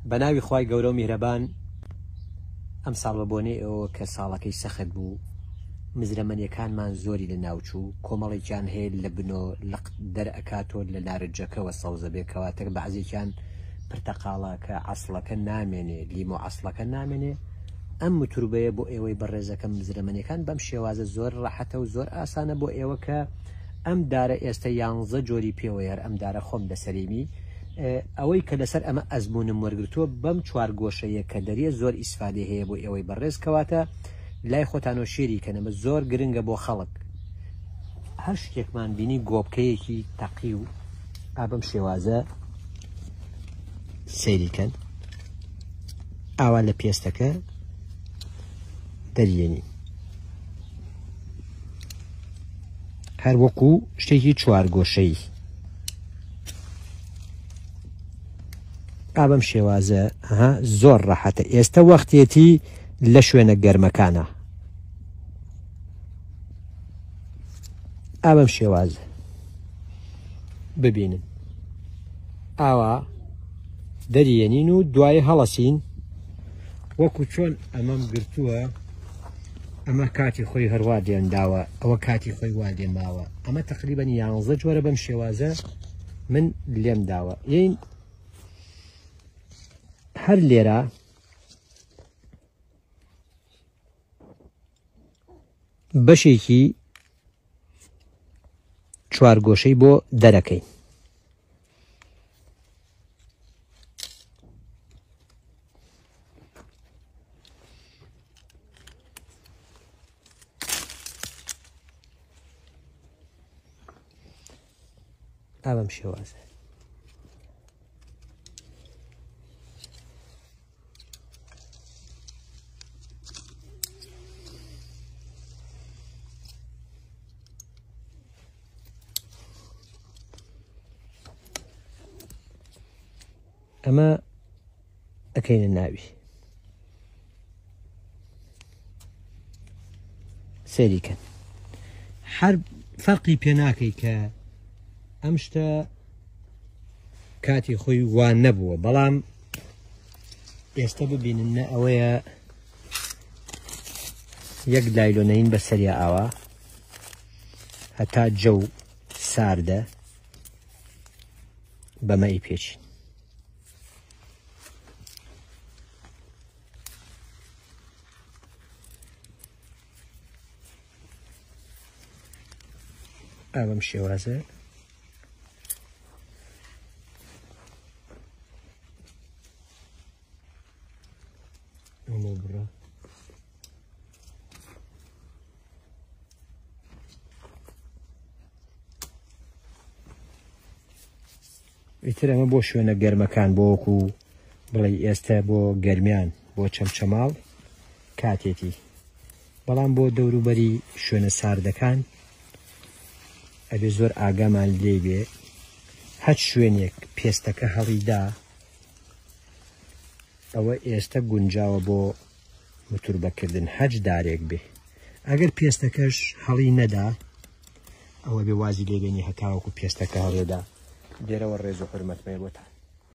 بە ناوی خوای گەورە و میهرەبان ئەمساڵ بە بۆنەی ئەوەوە کە ساڵەکەی سەخت بوو مزرەمەنیەکانمان زۆری لە ناوچوو کۆمەڵێکیان هەیە لە بنۆ لق دەرئەکاتۆ لە نارنجەکەوە سەوزە بێ کەواتە بەعزێکیان پرتەقاڵەکە عەسڵەکە نامێنێ لیمۆ عەسڵەکە نامێنێ ئەم متوربەیە بۆ ئێوەی بەڕێزەکەم مزرەمەنیەکان بەم شێوازە زۆر ڕەحەتە و زۆر ئاسانە بۆ ئێوە کە ئەم دارە ئێستە یانزە جۆری پێوەیە هەر ئەم دارە خۆم لەسەریمی ئەوەی کە لەسەر ئەمە ئەزموونم وەرگرتووە بەم چوارگۆشەیە کە دەریە زۆر ئیسفادەی هەیە بۆ ئێوەی بەڕێز کەواتە لای خۆتانەوە شێری کەن ئەمە زۆر گرنگە بۆ خەڵک هەر شتێکمان بینی گۆبکەیەکی تەقی و ئا بەم شێوازە سەیری کەن ئاوا لە پێستەکە دەریێنی هەر وەکو شتێکی چوارگۆشەی ئا بەم شێوازە ها زۆر ڕەحەتە ئێستە وەختێتی لە شوێنە گەرمەکانە ئا بەم شێوازە ببینن ئاوا دەریێنین و دوای هەڵەسین وەکو چۆن ئەمەم گرتووە ئەمە کاتی خۆی هەروا دێنداوە ئەوە کاتی خۆی وا لێماوە ئەمە تقریبان یانزە جۆرە بەم شێوازە من لێم داوە یین هەر لێرە بەشێکی چوارگۆشەی بۆ دەرەکەین. ئا بەم شێوازە ئەمە ئەکەینە ناوی سەیری کەن هەر فەرقی پێ ناکەی کە ئەم شتە کاتی خۆی وان نەبووە بەڵام ئێستا ببینن نە ئەوەیە یەک لایلۆنەین بە سەریا ئاوا هەتا جەو ساردە بەمە ئی پێچین ئا بەم شێوازە ئەمە بڕە ئیتر ئەمە بۆ شوێنە گەرمەکان بۆ وەکو بڵێ ئێستا بۆ گەرمیان بۆ چەمچەماڵ کاتێتی بەڵام بۆ دەوروبەری شوێنە ساردەکان ئەبێ زۆر ئاگامان لێ بێ هەچ شوێنێک پێستەکە هەڵیدا ئەوە ئێستە گونجاوە بۆ متوربەکردن هەچ دارێک بێ ئەگەر پێستەکەش هەڵی نەدا ئەوە بێ وازی لێبێنی هەتاوەکو پێستەکە هەڵێدا لێرەوە ڕێز و حورمەتم هەیە بۆتان.